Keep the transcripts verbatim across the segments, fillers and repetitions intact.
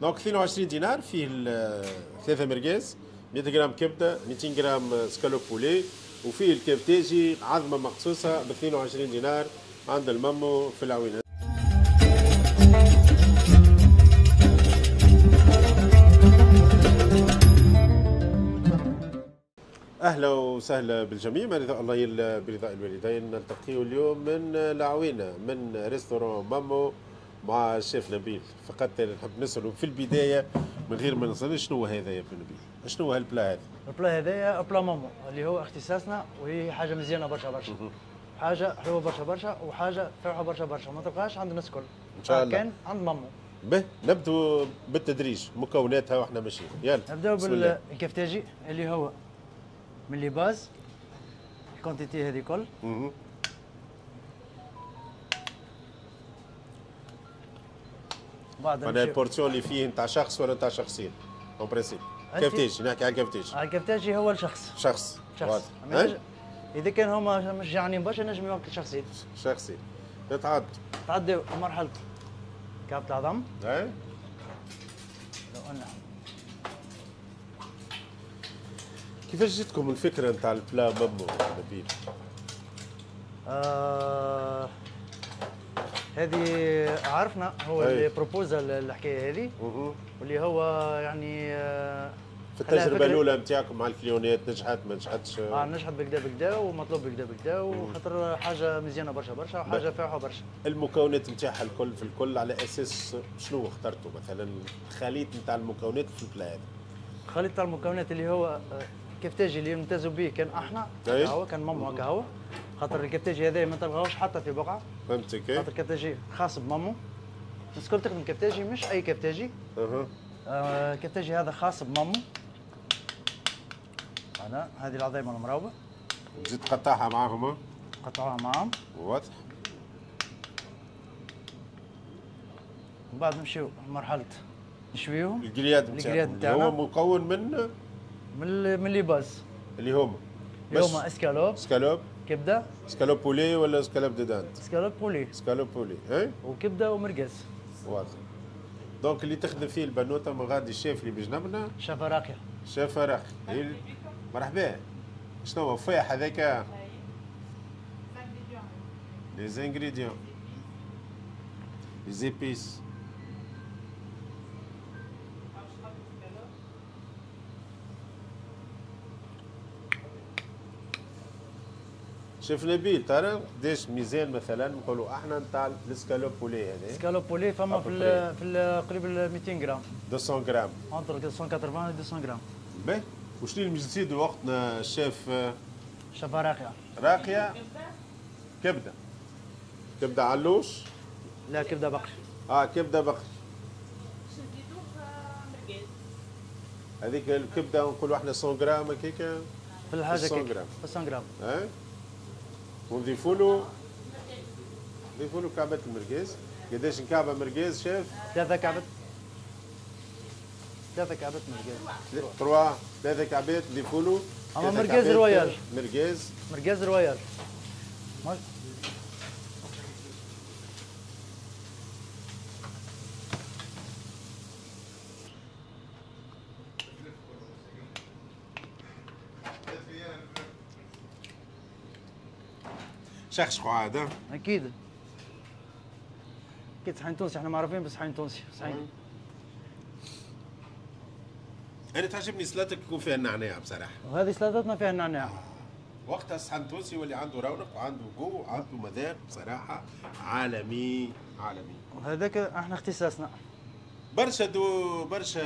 donc اثنين وعشرين دينار فيه ثلاثة مرقاز، مية غرام كبده، مئتين غرام escalope poulet، وفيه الكفتاجي عظمه مقصوصة ب اثنين وعشرين دينار عند المامو في العوينة. اهلا وسهلا بالجميع، رضاء الله برضاء الوالدين. نلتقي اليوم من العوينة من restaurant مامو مع الشيف نبيل. فقط نحب نسأله في البداية من غير ما نسأل، شنو هذا يا ابن نبيل؟ شنو هال plat هذا؟ ال plat هذايا plat مامو اللي هو اختصاصنا، وهي حاجة مزيانه برشا برشا، حاجة حلوة برشا برشا، وحاجه فارحه برشا برشا، ما تلقاهاش عند الناس الكل. ان شاء الله كان عند مامو. به نبدو بالتدريج مكوناتها واحنا ماشيين. يلا نبداو بالكفتاجي اللي هو من les bases ال quantité هذه كل. بعد معناها ال portion اللي فيه نتاع شخص ولا نتاع شخصين en principe؟ كفتاجي، نحكي على الكفتاجي. على الكفتاجي هو الشخص. شخص شخص. اذا كان هما مش جعانين برشا نجم ياكل شخصين. شخصين. نتعدوا. نتعدوا مرحلة كعبة العظم. اي. لو أن كيفاش جاتكم الفكرة نتاع ال plat مامو نبيل؟ آه هذه عرفنا هو اللي proposa الحكاية هذه، واللي هو يعني في التجربة الاولى نتاعكم مع ال client ات نجحت ما نجحتش؟ اه نجحت بالكدا بالكدا ومطلوب بالكدا بالكدا، وخاطر حاجة مزيانه برشا برشا وحاجه فاحه برشا. المكونات نتاعها الكل في الكل على اساس شنو اخترتوا مثلا الخليط نتاع المكونات في ال plat هذا؟ الخليط نتاع المكونات اللي هو الكفتاجي اللي نمتازوا به كان احنا هو كان مامو هكا هو، خاطر الكفتاجي هذا ما تلقاهوش حتى في بقعة. فهمتك. خاطر الكفتاجي خاص بمامو، الناس الكل تخدم كفتاجي مش اي كفتاجي. اها. آه الكفتاجي هذا خاص بمامو. انا هذه العظيمة المراوبه. تزيد تقطعها معاهم؟ قطعوها معاهم. واضح. من بعد نمشيو لمرحلة نشويوهم. ال grillade نتاعنا هو مكون من من من les bases اللي هما اللي هما escalope، escalope، كبده، escalope poulet ولا escalope de dinde؟ escalope poulet. escalope poulet اي، وكبده ومرقز. واضح. donc اللي تخدم فيه البنوته من غادي الشيف اللي بجنبنا شافه راقية. شافه راقية، مرحبا. شنو هو فاح هذاك؟ les ingrédients، les épices. شيف نبيل ترى قداش ميزان مثلا نقولوا احنا نتاع ال escalope poulet هذا؟ escalope poulet فما في ال في ال قريب مئتين غرام. مئتين غرام. entre مئتين وثمانين و مئتين غرام. باهي، وشنو اللي نزيدوا وقتنا الشيف؟ شافه راقية. راقية. كبده. كبده علوش؟ لا كبده بقري. اه كبده بقري. باش نزيدوه مرقاز. هذيك الكبده نقولوا احنا مية غرام هكاك. في الحاجة مية غرام. مية غرام. اه ونضيفوا له نضيفوا له كعبة المرقاز. قداش كعبة مرقاز شيف؟ ثلاثة كعبات. ثلاثة كعبات مرقاز. trois، ثلاثة كعبات نضيفوا له. أما مرقاز royal. مرقاز. مرقاز royal. شخشخو عاد. اكيد اكيد صحن تونسي، احنا معروفين بالصحن تونسي. صحن انا تعجبني سلطتك يكون فيها النعناع بصراحة، وهذه سلطتنا فيها النعناع. وقتها الصحن التونسي يولي عنده رونق وعنده جو وعنده مذاق بصراحة عالمي عالمي، وهذاك احنا اختصاصنا. برشا دو برشا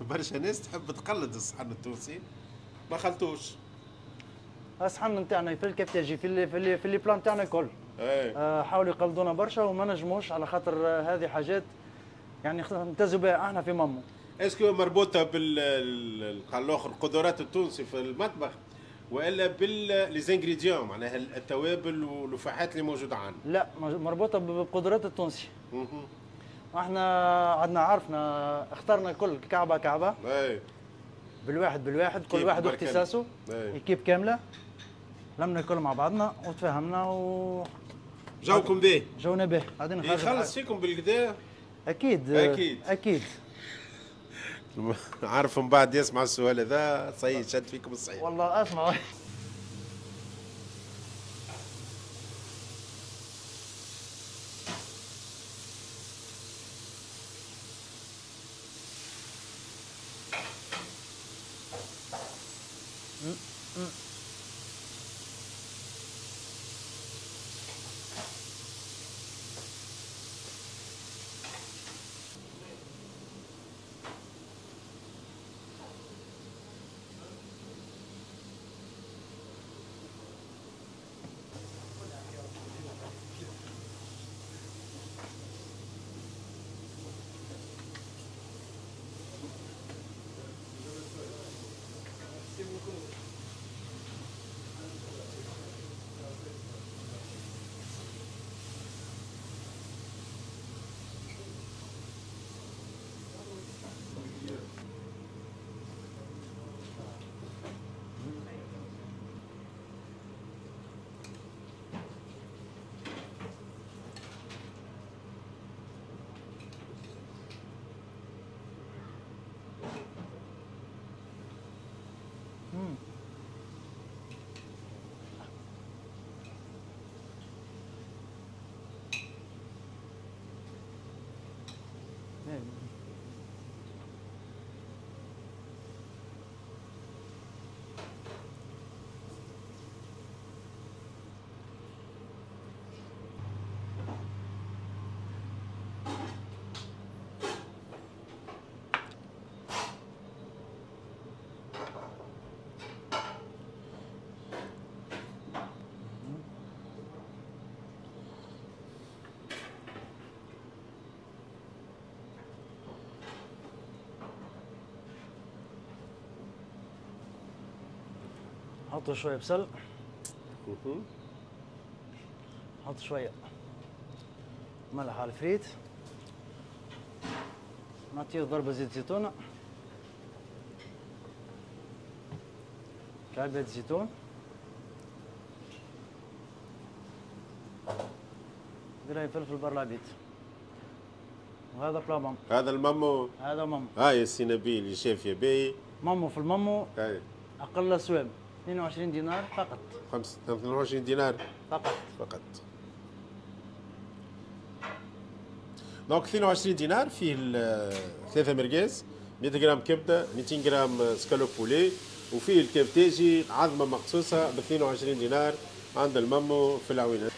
برشا ناس تحب تقلد الصحن التونسي ما خلطوش. الصحن نتاعنا في الكفتاجي في اللي في اللي في les plats نتاعنا الكل. آه حاولوا يقلدونا برشا وما نجموش، على خاطر هذه حاجات يعني نمتازوا بها احنا في مامو. est-ce que مربوطة بال الاخر القدرات التونسي في المطبخ والا بال les ingrédients معناها التوابل واللفاحات اللي موجودة عندنا؟ لا مربوطة بقدرات التونسي. احنا عندنا عرفنا اخترنا الكل كعبه كعبه. اي بالواحد بالواحد، كل واحد واختصاصه، équipe كاملة. لمنا الكل مع بعضنا وتفاهمنا و جاوكم به. جاونا به. غادي نخرج يخلص فيكم بالكدا؟ اكيد اكيد اكيد. عارف من بعد يسمع السؤال هذا صحيح شد فيكم الصحيح. والله اسمع. نحطوا شوية بصل، نحط شوية ملح على الفريت، نعطيه ضربه زيت زيتونه، كعبة زيتون، دراي فلفل بر العبيد، وهذا plat مامو. هذا المامو، هذا مامو. هاي السي نبيل الشيف يا باهي. مامو في المامو هاي اقل سوام اثنين وعشرين دينار فقط. خمسة اثنين وعشرين دينار فقط فقط. donc اثنين وعشرين دينار فيه ثلاثة مرقاز، مية غرام كبدة، ميتين غرام escalope poulet، وفيه الكفتاجي عظمة مقصوصة ب اثنين وعشرين دينار عند المامو في العوينة.